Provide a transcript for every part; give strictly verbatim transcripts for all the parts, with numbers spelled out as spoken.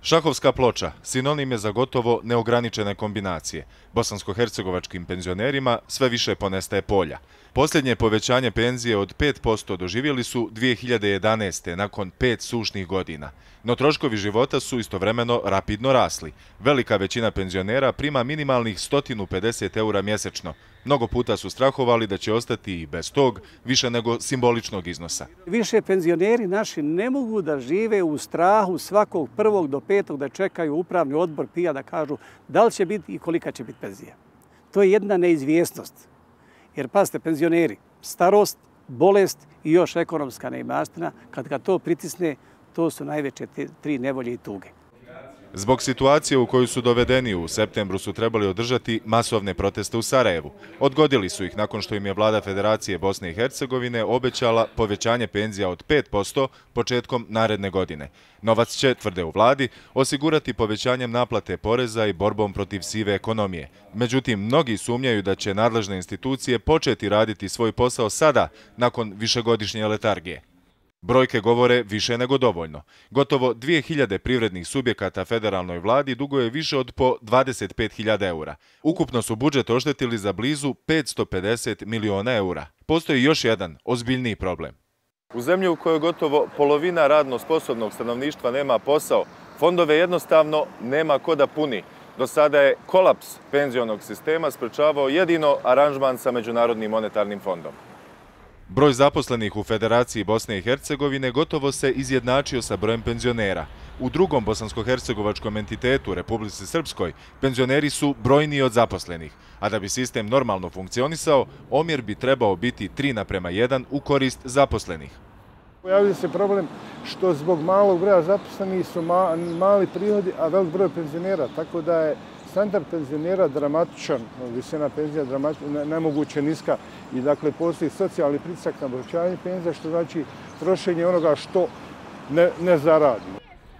Šahovska ploča sinonim je za gotovo neograničene kombinacije. Bosansko-hercegovačkim penzionerima sve više ponestaje polja. Posljednje povećanje penzije od pet posto doživjeli su dvije hiljade jedanaeste. nakon pet sušnih godina. No troškovi života su istovremeno rapidno rasli. Velika većina penzionera prima minimalnih sto pedeset eura mjesečno. Mnogo puta su strahovali da će ostati i bez tog više nego simboličnog iznosa. Više penzioneri naši ne mogu da žive u strahu svakog prvog do petog da čekaju upravni odbor P I A da kažu da li će biti i kolika će biti penzija. To je jedna neizvjesnost. Jer pazite, penzioneri, starost, bolest i još ekonomska neimaština, kad ga to pritisne, to su najveće tri nevolje i tuge. Zbog situacije u koju su dovedeni u septembru su trebali održati masovne proteste u Sarajevu. Odgodili su ih nakon što im je vlada Federacije Bosne i Hercegovine obećala povećanje penzija od pet posto početkom naredne godine. Novac će, tvrde u vladi, osigurati povećanjem naplate poreza i borbom protiv sive ekonomije. Međutim, mnogi sumnjaju da će nadležne institucije početi raditi svoj posao sada, nakon višegodišnje letargije. Brojke govore više nego dovoljno. Gotovo dvije hiljade privrednih subjekata federalnoj vladi duguje više od po dvadeset pet hiljada eura. Ukupno su budžet oštetili za blizu petsto pedeset miliona eura. Postoji još jedan ozbiljniji problem. U zemlji u kojoj gotovo polovina radno sposobnog stanovništva nema posao, fondove jednostavno nema ko da puni. Do sada je kolaps penzionog sistema sprečavao jedino aranžman sa Međunarodnim monetarnim fondom. Broj zaposlenih u Federaciji Bosne i Hercegovine gotovo se izjednačio sa brojem penzionera. U drugom bosansko-hercegovačkom entitetu, Republici Srpskoj, penzioneri su brojniji od zaposlenih, a da bi sistem normalno funkcionisao, omjer bi trebao biti tri naprema jedan u korist zaposlenih. Pojavio se problem što zbog malog broja zaposlenih su mali prihodi, a velik broj penzionera, tako da je standard penzionera dramatičan, visina penzija nemoguće niska i dakle postoji socijalni pritisak na povećanje penzija, što znači trošenje onoga što ne, ne zaradi.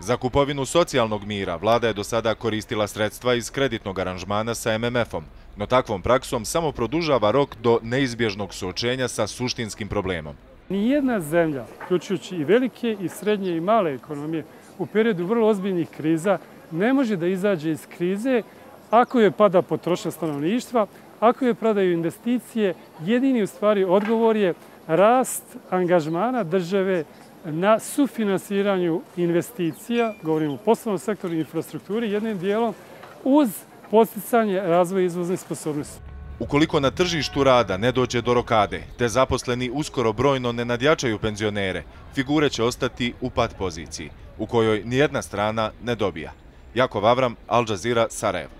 Za kupovinu socijalnog mira vlada je do sada koristila sredstva iz kreditnog aranžmana sa M M F-om, no takvom praksom samo produžava rok do neizbježnog suočenja sa suštinskim problemom. Nijedna zemlja, uključujući i velike i srednje i male ekonomije, u periodu vrlo ozbiljnih kriza ne može da izađe iz krize ako je pada potrošnja stanovništva, ako je padaju investicije. Jedini u stvari odgovor je rast angažmana države na sufinansiranju investicija, govorimo o poslovnom sektoru i infrastrukturi, jednim dijelom uz podsticanje razvoja izvozne sposobnosti. Ukoliko na tržištu rada ne dođe do rokade, te zaposleni uskoro brojno ne nadjačaju penzionere, figure će ostati u pat poziciji, u kojoj nijedna strana ne dobija. Jakov Avram, Al Jazeera, Sarajevo.